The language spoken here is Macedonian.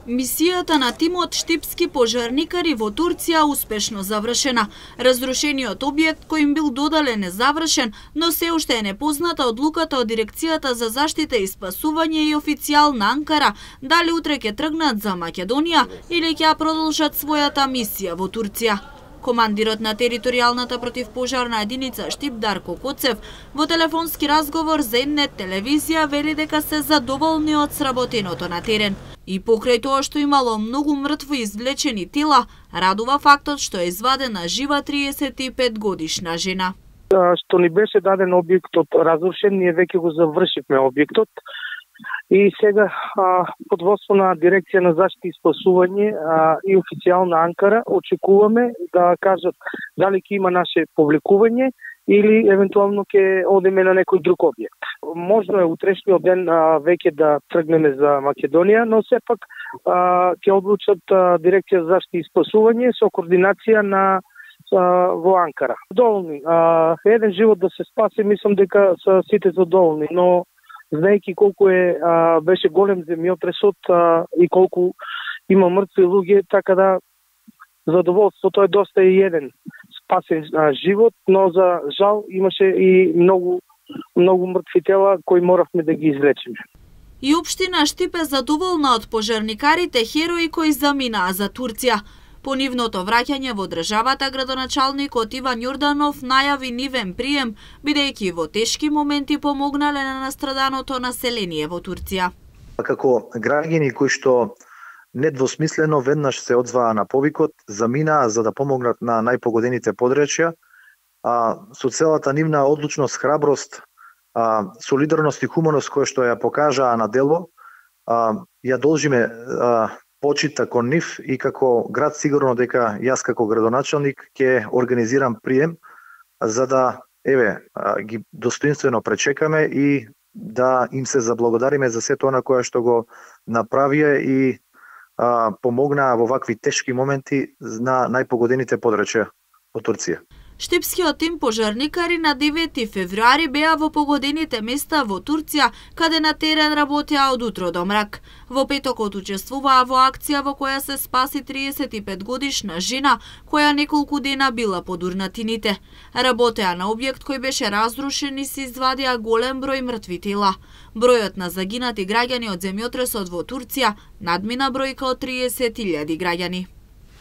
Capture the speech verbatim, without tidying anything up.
Мисијата на тимот штипски пожарникари во Турција успешно завршена. Разрушениот објект кој им бил додален е завршен, но се уште е непозната одлуката од Дирекцијата за заштита и спасување и официјална Анкара дали утре ќе тргнат за Македонија или ќе продолжат својата мисија во Турција. Командирот на територијалната противпожарна единица Штип Дарко Коцев во телефонски разговор за Н телевизија вели дека се задоволни од сработеното на терен. И покрај тоа што имало многу мртво извлечени тела, радува фактот што е извадена жива триесет и пет годишна жена. Што ни беше даден објектот разрушен, ние веќе го завршивме објектот. И сега а, под водство на Дирекција на заштита и спасување а, и официјална Анкара очекуваме да кажат дали ќе има наше повлекување или евентуално ќе одеме на некој друг објект. Можно е утрешниот ден а, веќе да тргнеме за Македонија, но сепак а, ќе одлучат а, Дирекција за заштита и спасување со координација на а, во Анкара. Доволни. А, еден живот да се спаси, мислам дека се сите задоволни, но знаејќи колку е а, беше голем земјотресот а, и колку има мртви луѓе, така да задоволството е доста и еден спасен а, живот, но за жал имаше и многу многу мртви тела кои моравме да ги извлечеме. И општина Штип е задоволна од пожарникарите херои кои заминаа за Турција. По нивното враќање во државата, градоначалникот Иван Јорданов најави нивен прием, бидејќи во тешки моменти помогнале на настраданото население во Турција. Како граѓани кои што недвосмислено веднаш се одзваа на повикот, заминаа за да помогнат на најпогодените подречја, а, со целата нивна одлучност, храброст, а, солидарност и хуманост која што ја покажаа на дело, а, ја должиме а, почита кон нив и како град сигурно дека јас како градоначалник ќе организирам прием за да еве ги достоинствено пречекаме и да им се заблагодариме за сето она кое што го направија и а, помогнаа во вакви тешки моменти на најпогодените подречја од Турција. Штипскиот тим пожарникари на девети февруари беа во погодените места во Турција, каде на терен работеа од утро до мрак. Во петокот учествуваа во акција во која се спаси триесет и пет годишна жена, која неколку дена била под урнатините. Работеа на објект кој беше разрушен и се извадија голем број мртви тела. Бројот на загинати граѓани од земјотресот во Турција надмина бројка од триесет илјади граѓани.